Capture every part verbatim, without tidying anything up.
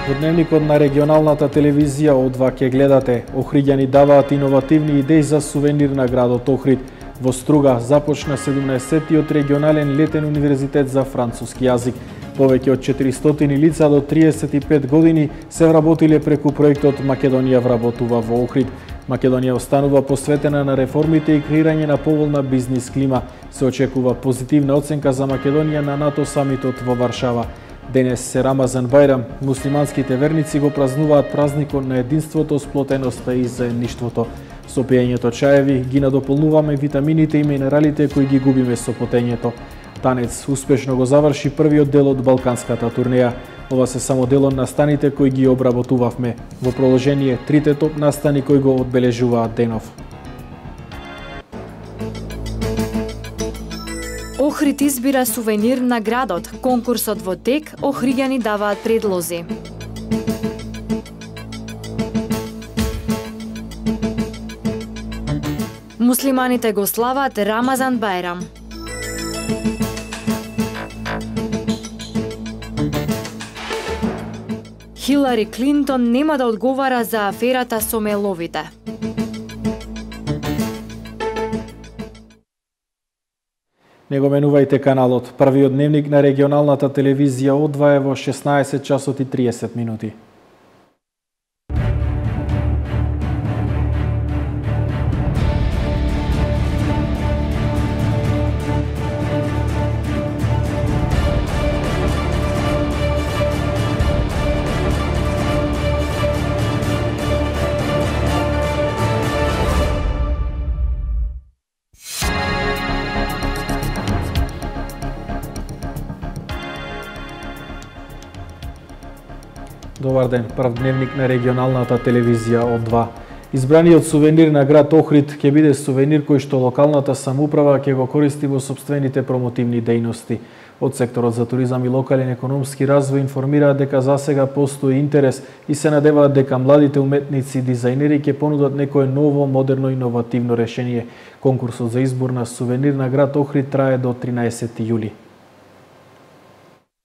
Во дневникот на регионалната телевизија О два ќе гледате: Охриѓани даваат иновативни идеи за сувенир на градот Охрид. Во Струга започна седумнаесеттиот регионален летен универзитет за француски јазик. Повеќе од четиристотини лица до триесет и пет години се вработиле преку проектот Македонија вработува во Охрид. Македонија останува посветена на реформите и креирање на поволна бизнис клима. Се очекува позитивна оценка за Македонија на НАТО самитот во Варшава. Денес се Рамазан Бајрам, муслиманските верници го празнуваат празникот на единството, сплотеноста и заедништвото. Со пиењето чаеви ги надополнуваме витамините и минералите кои ги губиме со потењето. Танец успешно го заврши првиот дел од балканската турнеја. Ова се само дел од настаните кои ги обработувавме. Во продолжение трите топ настани кои го одбележуваат денов. Охрид избира сувенир на градот. Конкурсот во тек, охриѓани даваат предлози. Муслиманите го слават Рамазан Бајрам. Хилари Клинтон нема да одговара за аферата со меловите. Не го менувајте каналот. Првиот дневник на регионалната телевизија О два е во шеснаесет часот и триесет минути. Добар ден, прв дневник на регионалната телевизија О два. Избраниот сувенир на град Охрид ќе биде сувенир кој што локалната самоуправа ќе го користи во сопствените промотивни дејности. Од секторот за туризам и локален економски развој информираат дека засега постои интерес и се надеваат дека младите уметници и дизајнери ќе понудат некое ново, модерно, иновативно решение. Конкурсот за избор на сувенир на град Охрид трае до тринаесети јули.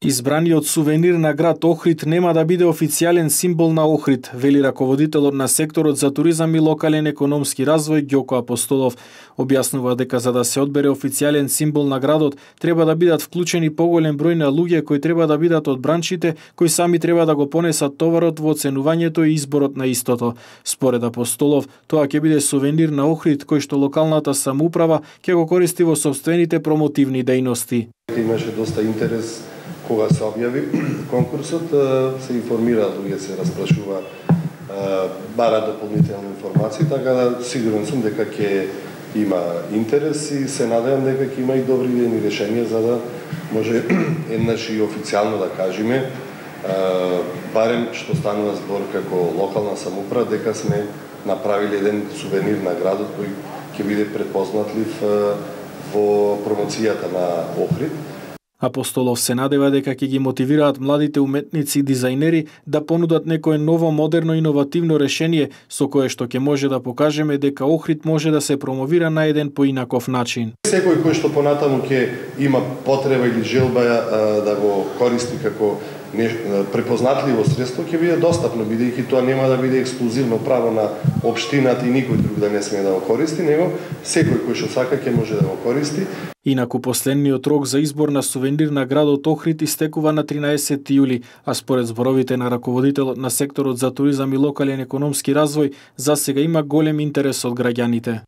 Избраниот сувенир на град Охрид нема да биде официјален символ на Охрид, вели раководителот на секторот за туризам и локален економски развој Ѓоко Апостолов. Објаснува дека за да се одбере официјален символ на градот, треба да бидат вклучени поголем број на луѓе кои треба да бидат од браншите, кои сами треба да го понесат товарот во оценувањето и изборот на истото. Според Апостолов, тоа ќе биде сувенир на Охрид кој што локалната самоуправа ќе го користи во сопствените промотивни дејности. Имаше доста интерес кога се објави конкурсот, се информира луѓе, се распрашува, бара дополнителни информации, така да сигурен сум дека ќе има интерес и се надевам дека ќе има и добри идејни решенија за да може еднаш и официјално да кажеме, барем што станува збор како локална самоуправа, дека сме направили еден сувенир на градот кој ќе биде препознатлив во промоцијата на Охрид. Апостолов се надева дека ќе ги мотивираат младите уметници и дизајнери да понудат некое ново, модерно, иновативно решение со кое што ќе може да покажеме дека Охрид може да се промовира на еден поинаков начин. Секој кој што понатаму ќе има потреба или желба да го користи како препознатливо средство ќе биде достапно, бидејќи тоа нема да биде ексклузивно право на општината и никој друг да не смее да го користи, него секој кој што сака ќе може да го користи. Инаку последниот рок за избор на сувенир на градот Охрид истекува на тринаесети јули, а според зборовите на раководителот на секторот за туризам и локален економски развој, засега има голем интерес од граѓаните.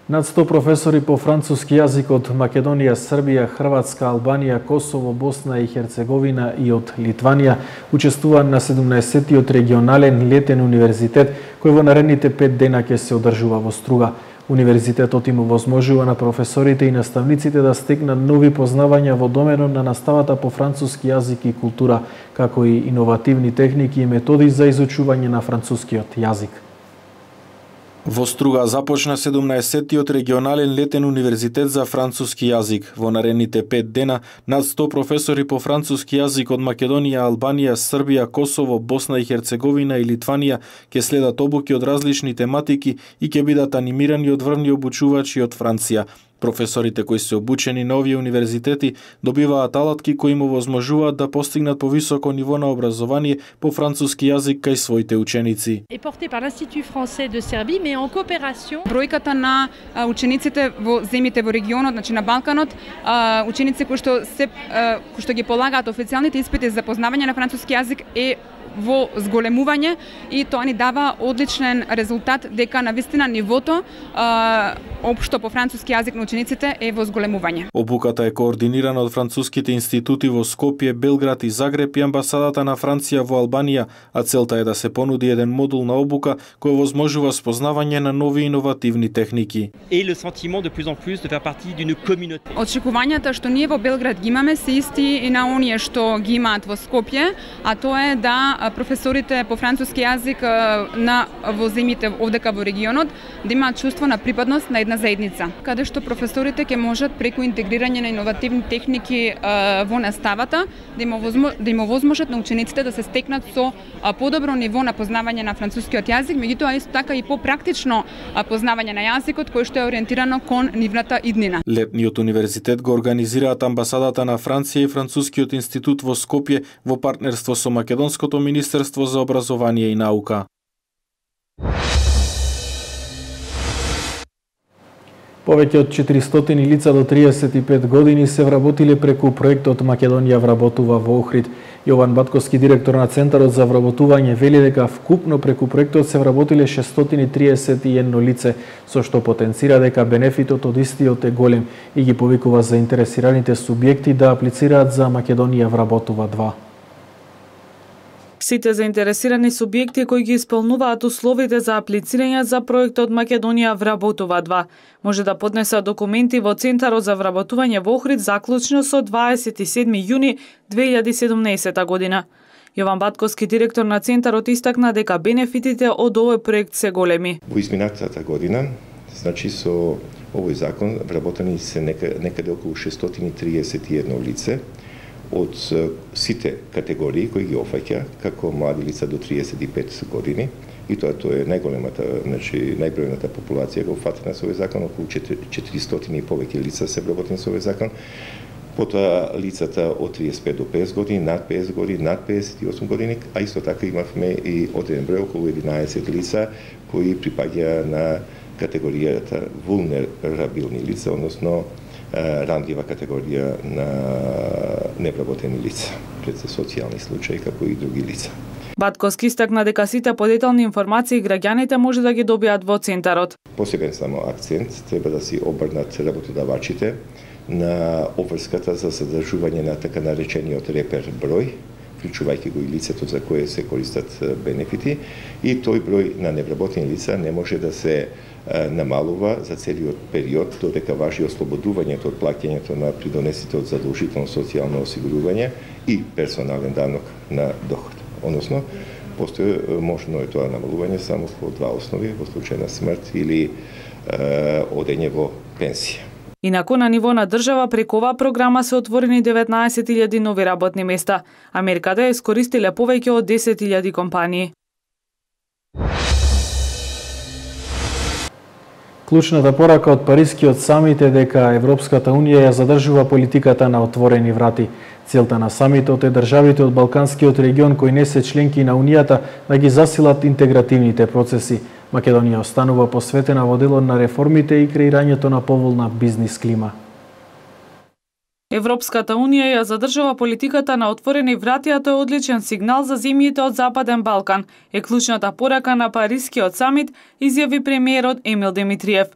Над сто професори по француски јазик од Македонија, Србија, Хрватска, Албанија, Косово, Босна и Херцеговина и од Литванија учествуваат на седумнаесеттиот регионален летен универзитет кој во наредните пет дена ќе се одржува во Струга. Универзитетот им овозможува на професорите и наставниците да стекнат нови познавања во доменот на наставата по француски јазик и култура, како и иновативни техники и методи за изучување на францускиот јазик. Во Струга започна седумнаесеттиот регионален летен универзитет за француски јазик. Во наредните пет дена над сто професори по француски јазик од Македонија, Албанија, Србија, Косово, Босна и Херцеговина и Литванија ќе следат обуки од различни тематики и ќе бидат анимирани од врвни обучувачи од Франција. Професорите кои се обучени на овие универзитети добиваат алатки кои им овозможуваат да постигнат повисоко ниво на образование по француски јазик кај своите ученици. Е порте par l'Institut français de Serbie, mais en coopération. Бројката на учениците во земјите во регионот, значи на Балканот, ученици кои што се кои што ги полагаат официјалните испити за познавање на француски јазик е во зголемување и тоа ни дава одличен резултат дека навистина нивото а, општо по француски јазик на учениците е во зголемување. Обуката е координирана од француските институти во Скопје, Белград и Загреб и амбасадата на Франција во Албанија, а целта е да се понуди еден модул на обука кој овозможува спознавање на нови иновативни техники. Et le sentiment de plus en plus de faire partie d'une communauté. Очекувањата што ние во Белград ги имаме се исти и на оние што ги имаат во Скопје, а тоа е да професорите по француски јазик на во земјите овдека во регионот да имаат чувство на припадност на една заедница, каде што професорите ќе можат преку интегрирање на иновативни техники во наставата да им овозможат да им овозможат на учениците да се стекнат со подобро ниво на познавање на францускиот јазик, меѓутоа исто така и попрактично познавање на јазикот кој што е ориентирано кон нивната иднина. Летниот универзитет го организираат амбасадата на Франција и Францускиот институт во Скопје во партнерство со Македонското Министерство за образование и наука. Повеќе од четиристотини лица до триесет и пет години се вработиле преку проектот Македонија вработува во Охрид. Јован Батковски, директор на Центарот за вработување, вели дека вкупно преку проектот се вработиле шестстотини триесет и едно лице, со што потенцира дека бенефитот од истиот е голем и ги повикува заинтересираните субјекти да аплицираат за Македонија вработува два. Сите заинтересирани субјекти кои ги исполнуваат условите за аплицирање за проектот Македонија вработува два може да поднесат документи во Центарот за вработување во Охрид заклучно со дваесет и седми јуни две илјади и седумнаесета година. Јован Батковски, директор на Центарот, истакна дека бенефитите од овој проект се големи. Во изминатата година, значи со овој закон вработени се некаде околу шестстотини триесет и едно лице од сите категории кои ги офаќа како млади лица до триесет и пет години, и тоа тоа е најголемата, значи најбројната популација го фатена со овој закон, околу четиристотини и повеќе лица се вработени со овој закон. Потоа лицата од триесет и пет до песет години, над песет години, над песет и осум години, а исто така имавме и одреден број околу единаесет лица кои припаѓа на категоријата вулнерабилни лица, односно рандива категорија на невработени лица, пред се социјални случаи како и други лица. Батковски истакна дека сите подетални информации граѓаните може да ги добијат во Центарот. Посебен само акцент треба да си обрнат работодавачите на обврската за задржување на така наречениот репер број, вклучувајќи го и лицето за кое се користат бенефити, и тој број на невработени лица не може да се намалува за целиот период додека важи ослободувањето од плаќањето на придонесите од задолжително социјално осигурување и персонален данок на доход. Односно, постои можно е тоа намалување само по два основи, во случај на смрт или е, одење во пенсија. Инаку на ниво на држава преку оваа програма се отворени деветнаесет илјади нови работни места. Америката ја искористиле повеќе од десет илјади компании. Клучната порака од Парискиот самит е дека Европската Унија ја задржува политиката на отворени врати. Целта на самитот е државите од Балканскиот регион кои не се членки на Унијата да ги засилат интегративните процеси. Македонија останува посветена во делот на реформите и креирањето на поволна бизнис клима. Европската Унија ја задржува политиката на отворени врати, а тоа е одличен сигнал за земјите од Западен Балкан, е клучната порака на Парискиот самит, изјави премиерот Емил Димитриев.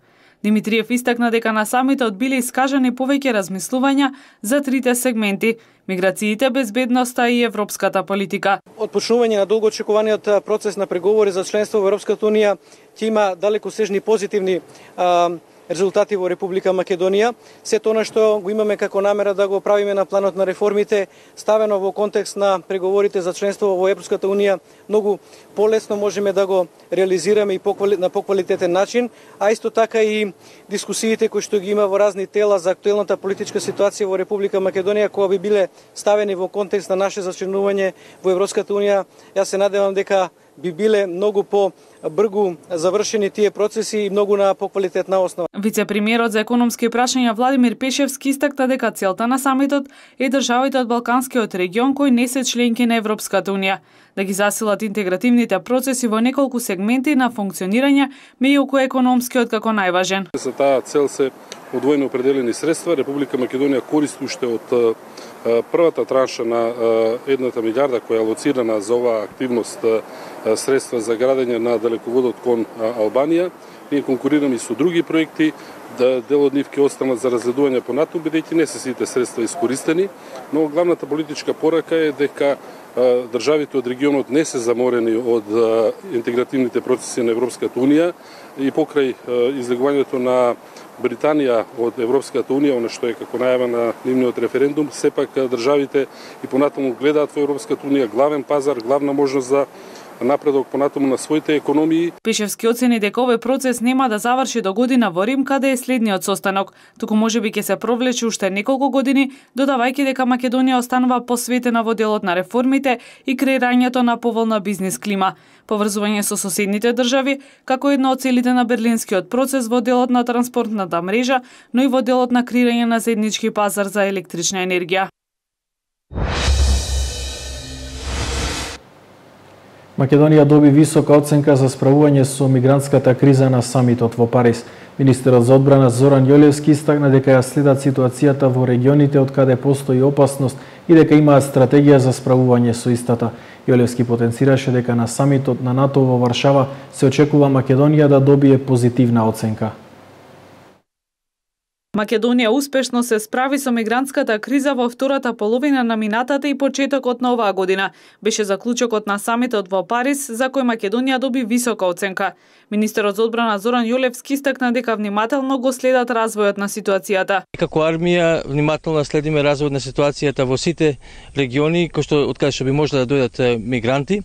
Димитриев истакна дека на самитот биле искажани повеќе размислувања за трите сегменти – миграциите, безбедноста и европската политика. Од почнување на долгоочекуваниот процес на преговори за членство во Европската Унија ќе има далекосежни позитивни а, резултати во Република Македонија. Сето она што го имаме како намера да го правиме на планот на реформите, ставено во контекст на преговорите за членство во Европската Унија, многу полесно можеме да го реализираме и на поквалитетен начин, а исто така и дискусиите кои што ги има во разни тела за актуелната политичка ситуација во Република Македонија, кои би биле ставени во контекст на наше зачленување во Европската Унија. Јас се надевам дека би биле многу по бргу завршени тие процеси и многу на поквалитетна основа. Вице-премиерот за економски прашања Владимир Пешевски истакна дека целта на самитот е државите од Балканскиот регион кои не се членки на Европската унија да ги засилат интегративните процеси во неколку сегменти на функционирање, меѓу кои економскиот како најважен. За таа цел се одвоено определени средства. Република Македонија користи уште од првата транша на едната милиарда која е алоцирана за оваа активност средства за градење на далеководот кон Албанија. Ние конкурираме и со други проекти, да дел од нив ќе останат за разгледување понатаму, бидејќи не се сите средства искористени, но главната политичка порака е дека државите од регионот не се заморени од интегративните процеси на Европската унија и покрај излегувањето на Британија од Европската унија, она што е како најава на нивниот референдум, сепак државите и понатаму гледаат во Европската унија главен пазар, главна можност за напредок понатаму на своите економии. Пешевски оцени дека овој процес нема да заврши до година во Рим, каде е следниот состанок, туку можеби ќе се провлече уште неколку години, додавајќи дека Македонија останува посветена во делот на реформите и креирањето на поволна бизнис клима, поврзување со соседните држави, како една од целите на берлинскиот процес во делот на транспортната мрежа, но и во делот на креирање на заеднички пазар за електрична енергија. Македонија доби висока оценка за справување со мигрантската криза на самитот во Париз. Министерот за одбрана Зоран Јолевски истакна дека ја следат ситуацијата во регионите од каде постои опасност и дека имаат стратегија за справување со истата. Јолевски потенцираше дека на самитот на НАТО во Варшава се очекува Македонија да добие позитивна оценка. Македонија успешно се справи со мигрантската криза во втората половина на минатата и почетокот на оваа година. Беше заклучокот на самитот во Париз, за кој Македонија доби висока оценка. Министерот за одбрана Зоран Јолевски истакна дека внимателно го следат развојот на ситуацијата. Како армија внимателно следиме развојот на ситуацијата во сите региони кои што од каде што би можеле да дојдат мигранти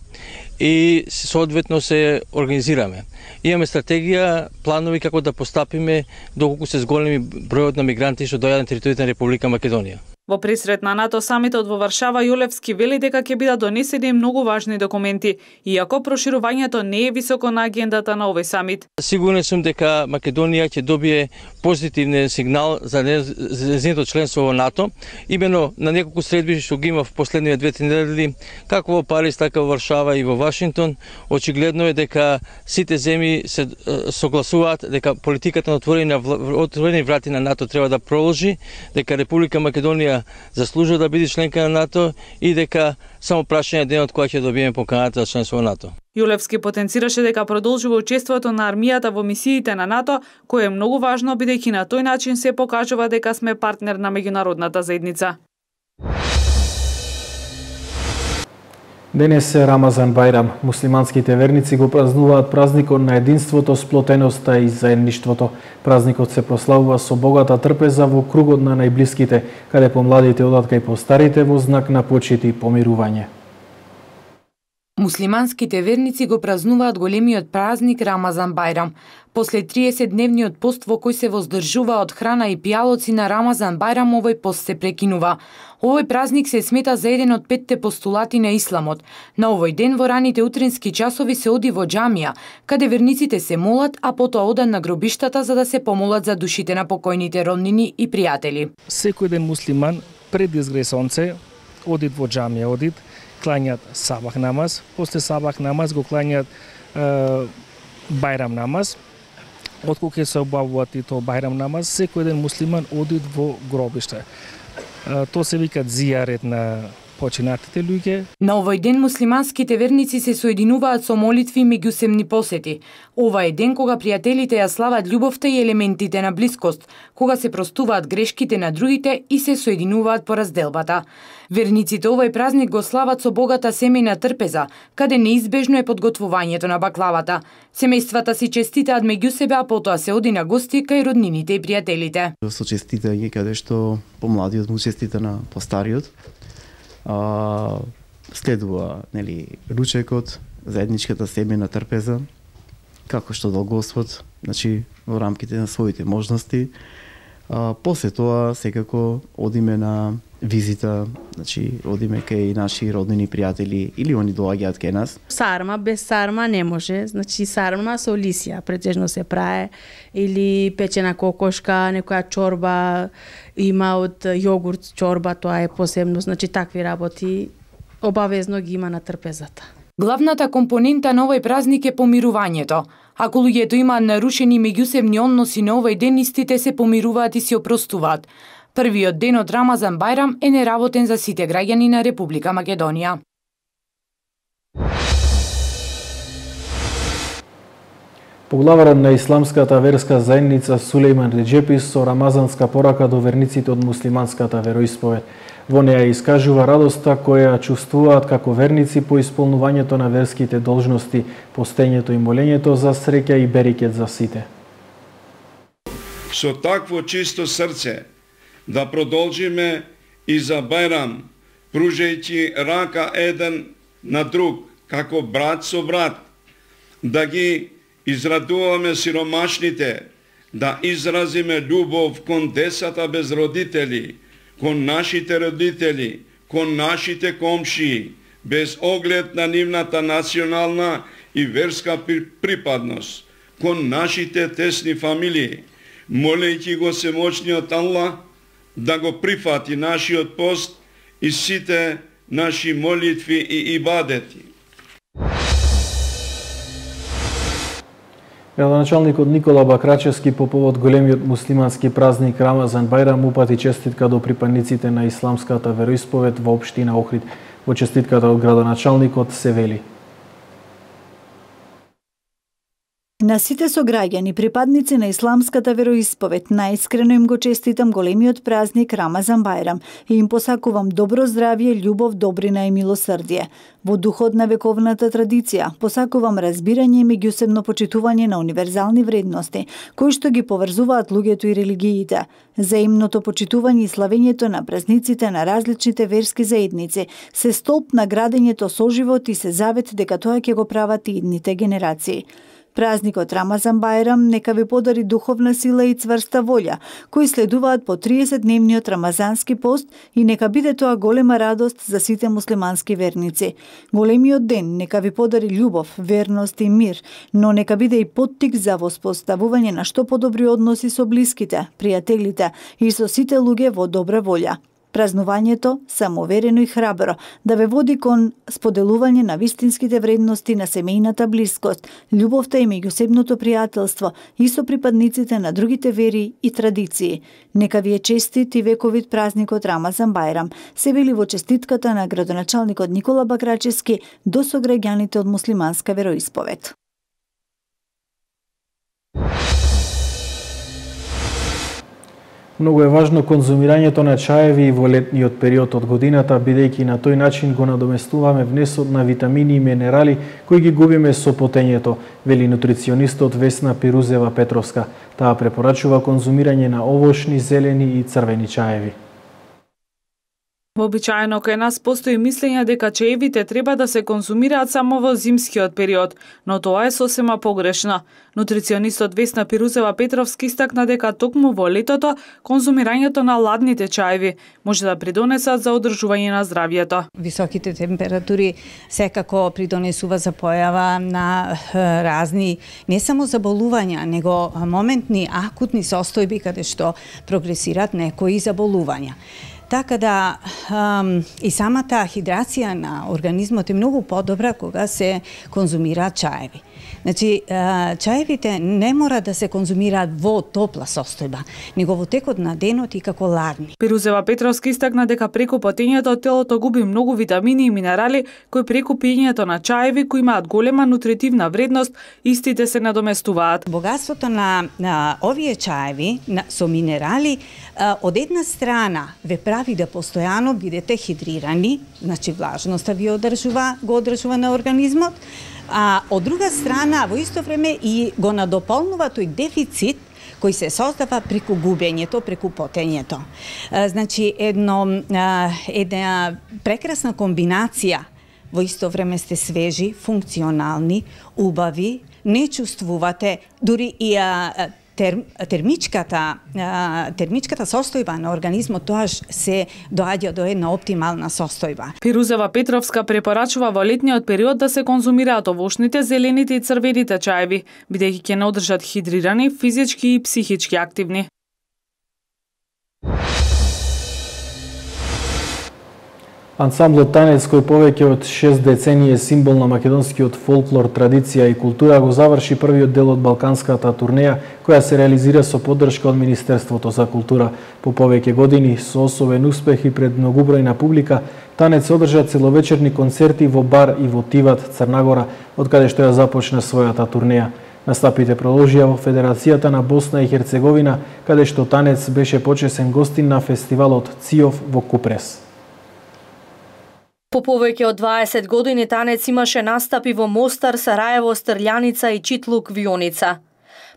и соодветно се организираме. Имаме стратегија, планови како да постапиме доколку се зголеми бројот на мигранти што доаѓаат на територијата на Република Македонија. Во пресрет на НАТО самитот во Варшава, Јолевски вели дека ќе бидат донесени многу важни документи, иако проширувањето не е високо на агендата на овој самит. Сигурен сум дека Македонија ќе добие позитивен сигнал за нејзиното членство во НАТО. Имено на неколку средби што ги има в последниве две-три недели, како во Париз, така во Варшава и во Вашингтон, очигледно е дека сите земји се согласуваат дека политиката на отворени, отворени врати на НАТО треба да продолжи, дека Република Македонија заслужува да биде членка на НАТО и дека само прашање денот кога ќе добиеме поканата за членство во НАТО. Јолевски потенцираше дека продолжува учеството на армијата во мисиите на НАТО, кое е многу важно бидејќи на тој начин се покажува дека сме партнер на меѓународната заедница. Денес е Рамазан Бајрам. Муслиманските верници го празнуваат празникот на единството, сплотеноста и заедништвото. Празникот се прославува со богата трпеза во кругот на најблиските, каде помладите одат кај постарите во знак на почит и помирување. Муслиманските верници го празнуваат големиот празник Рамазан Бајрам. После триесетдневниот пост во кој се воздржува од храна и пијалоци на Рамазан Бајрам, овој пост се прекинува. Овој празник се смета за еден од петте постулати на исламот. На овој ден во раните утрински часови се оди во џамија, каде верниците се молат, а потоа одат на гробиштата за да се помолат за душите на покојните роднини и пријатели. Секој ден муслиман пред изгре сонце одит во џамија, одит, клањат сабах намаз, после сабах намаз го клањат е, бајрам намаз. Откога ќе се обавуваат и тоа бајрам намаз, секој ден муслиман одит во гробиште. Е, тоа се вика зијарет на починатите луѓе. На овој ден муслиманските верници се соединуваат со молитви и меѓусебни посети. Ова е ден кога пријателите ја слават љубовта и елементите на блискост, кога се простуваат грешките на другите и се соединуваат по разделбата. Верниците овој празник го слават со богата семејна трпеза, каде неизбежно е подготвувањето на баклавата. Семејствата си честитаат меѓу себе, а потоа се оди на гости кај роднините и пријателите. Со честитање каде што помладиот му честита на постариот. А, следува, нели, ручекот, заедничката семејна трпеза, како што дал Господ, значи во рамките на своите можности. А, после тоа секако одиме на визита, значи одиме кај наши роднини пријатели или они доаѓаат кај нас. Сарма без сарма не може, значи сарма со лисија претежно се праe или печена кокошка, некоја чорба има од јогурт чорба, тоа е посебно, значи такви работи обавезно ги има на трпезата. Главната компонента на овој празник е помирувањето. Ако луѓето имаат нарушени меѓусебни односи на овој ден, истите се помируваат и се опростуваат. Првиот ден од Рамазан Бајрам е неработен за сите граѓани на Република Македонија. Поглаварот на исламската верска заедница Сулејман Реџепи со рамазанска порака до верниците од муслиманската вероисповед. Во неја искажува радоста која чувствуваат како верници по исполнувањето на верските должности, постењето и молењето за среќа и берекет за сите. Со такво чисто срце да продолжиме и за Бајрам, пружајќи рака еден на друг, како брат со брат, да ги израдуваме сиромашните, да изразиме љубов кон децата без родители, кон нашите родители, кон нашите комшии, без оглед на нивната национална и верска припадност, кон нашите тесни фамилии, молејќи го Семоćниот Аллах да го прифати нашиот пост и сите наши молитви и ибадети. Градоначалникот Никола Бакрачевски по повод големиот муслимански празник Рамазан Бајрам упати честитка до припадниците на исламската вероисповед во општина Охрид. Во честитката од градоначалникот се вели: На сите сограѓани, припадници на исламската вероисповед, најискрено им го честитам големиот празник Рамазан Бајрам и им посакувам добро здравје, љубов, добрина и милосрдие. Во духот на вековната традиција, посакувам разбирање и меѓусебно почитување на универзални вредности, кои што ги поврзуваат луѓето и религиите. Заимното почитување и славењето на празниците на различните верски заедници се столб на градењето соживот и се завет дека тоа ќе го прават и идните генерации. Празникот Рамазан Бајрам нека ви подари духовна сила и цврста волја, кои следуваат по триесетдневниот рамазански пост и нека биде тоа голема радост за сите муслимански верници. Големиот ден нека ви подари љубов, верност и мир, но нека биде и поттик за воспоставување на што подобри односи со блиските, пријателите и со сите луѓе во добра волја. Празнувањето, самоверено и храбро, да ве води кон споделување на вистинските вредности на семејната блискост, љубовта и меѓусебното пријателство и со припадниците на другите вери и традиции. Нека ви е честит и вековит празникот Рамазан Бајрам, се вели во честитката на градоначалникот Никола Бакрачевски до сограѓаните од муслиманска вероисповед. Многу е важно конзумирањето на чаеви во летниот период од годината, бидејќи на тој начин го надоместуваме внесот на витамини и минерали кои ги губиме со потењето, вели нутриционистот Весна Пирузева Петровска. Таа препорачува конзумирање на овошни, зелени и црвени чаеви. Вообичаено кај нас постои мислење дека чаевите треба да се конзумираат само во зимскиот период, но тоа е сосема погрешно. Нутриционистот Весна Пирузева Петровски истакна дека токму во летото конзумирањето на ладните чаеви може да придонесат за одржување на здравјето. Високите температури секако придонесува за појава на разни не само заболувања, него моментни акутни состојби каде што прогресираат некои заболувања. Така да ам, и самата хидрација на организмот е многу подобра кога се конзумираат чаеви. Значи, чаевите не мора да се конзумираат во топла состојба, него во текот на денот и како ладни. Пирузева Петровски истакна дека преку потењето телото губи многу витамини и минерали кои преку пиењето на чаеви кои имаат голема нутритивна вредност, истите се надоместуваат. Богатството на, на овие чаеви на, со минерали од една страна ве прави да постојано бидете хидрирани, значи влажноста ви одржува, го одржува на организмот, а од друга страна во исто време и го надополнува тој дефицит кој се создава преку губењето, преку потењето. Значи едно една прекрасна комбинација, во исто време сте свежи, функционални, убави, не чувствувате, дури и а, тер, термичката термичката состојба на организмот тоаш се доаѓа до една оптимална состојба. Фирузева Петровска препорачува во летниот период да се конзумираат овошните, зелените и црвените чаеви, бидејќи ќе не одржат хидрирани, физички и психички активни. Ансамблот Танец, кој повеќе од шест децении е символ на македонскиот фолклор, традиција и култура, го заврши првиот дел од балканската турнеја, која се реализира со поддршка од Министерството за култура. По повеќе години, со особен успех и пред многубројна публика, Танец одржа целовечерни концерти во Бар и во Тиват, Црнагора, од каде што ја започна својата турнеја. Настапите продолжија во Федерацијата на Босна и Херцеговина, каде што Танец беше почесен гостин на фестивалот Циов во Купрес. По повеќе од дваесет години Танец имаше настапи во Мостар, Сараево, Стрљаница и Читлук, Вионица.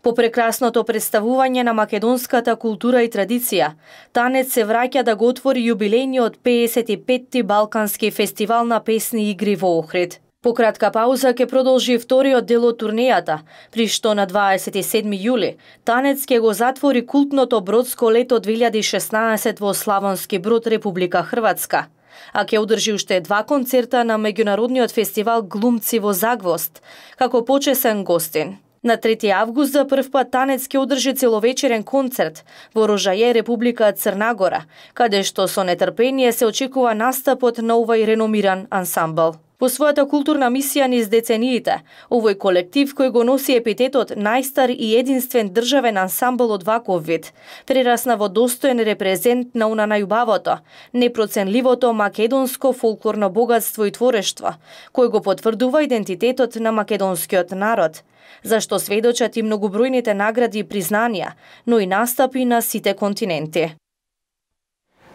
По прекрасното представување на македонската култура и традиција, Танец се враќа да го отвори јубилејниот пеесет и петти Балкански фестивал на песни и игри во Охрид. По кратка пауза ќе продолжи вториот дел од турнејата, при што на дваесет и седми јули Танец ќе го затвори култното Бродско лето две илјади и шеснаесет во Славонски Брод, Република Хрватска, а ќе одржи уште два концерта на меѓународниот фестивал Глумци во Загвост, како почесен гостин. На трети август за прв пат Танец ќе одржи целовечерен концерт во Рожаје, Република Црнагора, каде што со нетрпение се очекува настапот на овој реномиран ансамбл. По својата културна мисија низ децениите, овој колектив кој го носи епитетот најстар и единствен државен ансамбл од ваков вид, прерасна во достоен репрезент на уна најубавото, непроценливото македонско фолклорно богатство и творештво, кој го потврдува идентитетот на македонскиот народ, зашто сведочат и многобројните награди и признанија, но и настапи на сите континенти.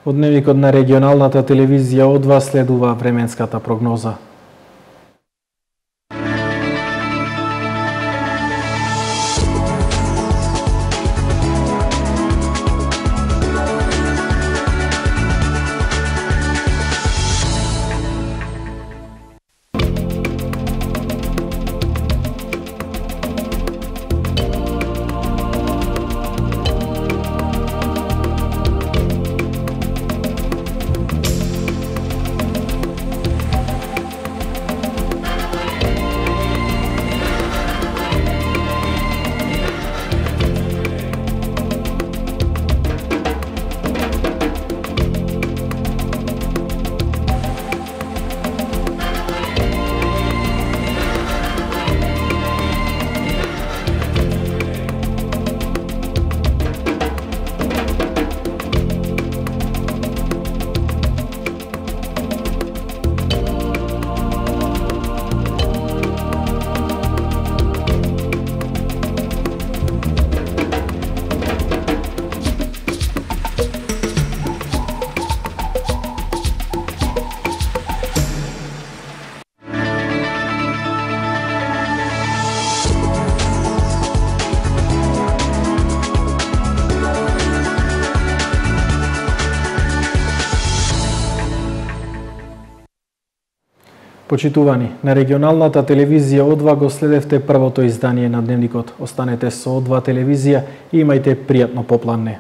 Од дневникот на регионалната телевизија од вас следува временската прогноза. Почитувани, на регионалната телевизија О два го следевте првото издание на Дневникот. Останете со О два телевизија и имајте пријатно попладне.